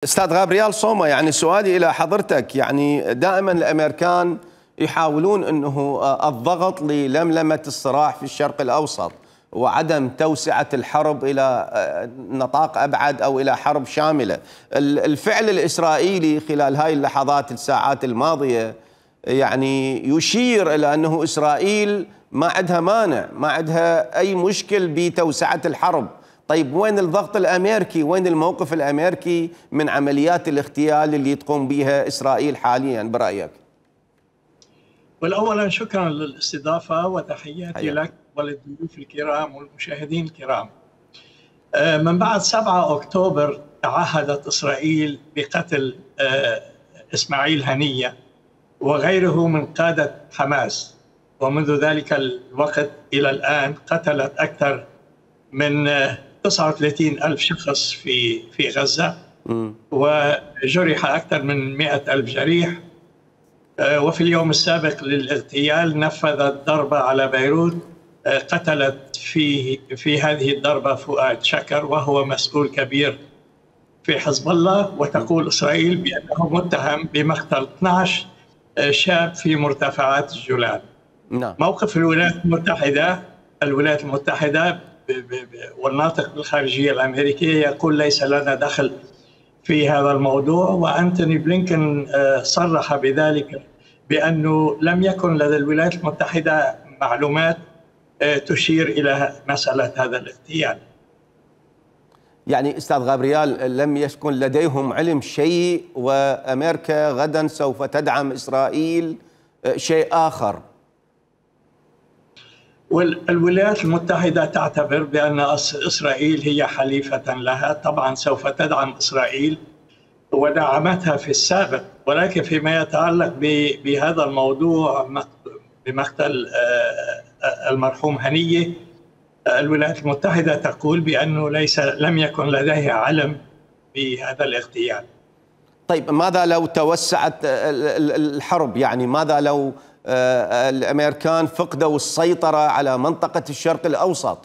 استاذ غابرييل سوما، يعني سؤالي الى حضرتك، يعني دائما الامريكان يحاولون انه الضغط للملمه الصراع في الشرق الاوسط وعدم توسعه الحرب الى نطاق ابعد او الى حرب شامله. الفعل الاسرائيلي خلال هاي اللحظات الساعات الماضيه يعني يشير الى انه اسرائيل ما عندها مانع، ما عندها اي مشكل بتوسعه الحرب. طيب وين الضغط الامريكي؟ وين الموقف الامريكي من عمليات الاغتيال اللي تقوم بها اسرائيل حاليا برايك؟ والأولا شكرا للاستضافه وتحياتي لك وللضيوف الكرام والمشاهدين الكرام. من بعد 7 أكتوبر تعهدت اسرائيل بقتل اسماعيل هنيه وغيره من قاده حماس، ومنذ ذلك الوقت الى الان قتلت اكثر من 39,000 شخص في غزة، وجرح أكثر من 100,000 جريح. وفي اليوم السابق للاغتيال نفذت ضربة على بيروت، قتلت في هذه الضربة فؤاد شكر وهو مسؤول كبير في حزب الله، وتقول إسرائيل بأنه متهم بمقتل 12 شاب في مرتفعات الجولان. موقف الولايات المتحدة والناطق بالخارجية الأمريكية يقول ليس لنا دخل في هذا الموضوع، وأنتوني بلينكن صرح بذلك بأنه لم يكن لدى الولايات المتحدة معلومات تشير إلى مسألة هذا الاغتيال. يعني أستاذ غابرييل لم يكن لديهم علم شيء، وأمريكا غدا سوف تدعم إسرائيل شيء آخر. والولايات المتحدة تعتبر بأن إسرائيل هي حليفة لها، طبعا سوف تدعم إسرائيل ودعمتها في السابق، ولكن فيما يتعلق بهذا الموضوع بمقتل المرحوم هنية، الولايات المتحدة تقول بأنه لم يكن لديها علم بهذا الاغتيال. طيب ماذا لو توسعت الحرب؟ يعني ماذا لو الأمريكان فقدوا السيطرة على منطقة الشرق الأوسط؟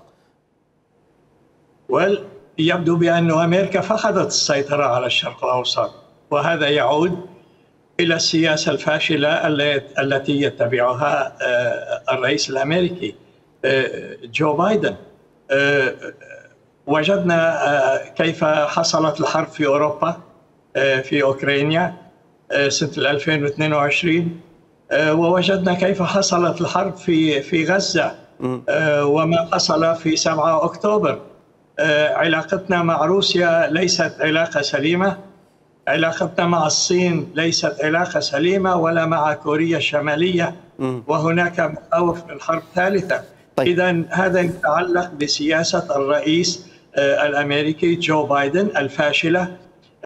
يبدو بأن أمريكا فقدت السيطرة على الشرق الأوسط، وهذا يعود إلى السياسة الفاشلة التي يتبعها الرئيس الأمريكي جو بايدن. وجدنا كيف حصلت الحرب في أوروبا في أوكرانيا سنة 2022، ووجدنا كيف حصلت الحرب في غزة وما حصل في 7 أكتوبر. علاقتنا مع روسيا ليست علاقة سليمة، علاقتنا مع الصين ليست علاقة سليمة، ولا مع كوريا الشمالية، وهناك مخاوف من حرب ثالثة. إذن هذا يتعلق بسياسة الرئيس الأمريكي جو بايدن الفاشلة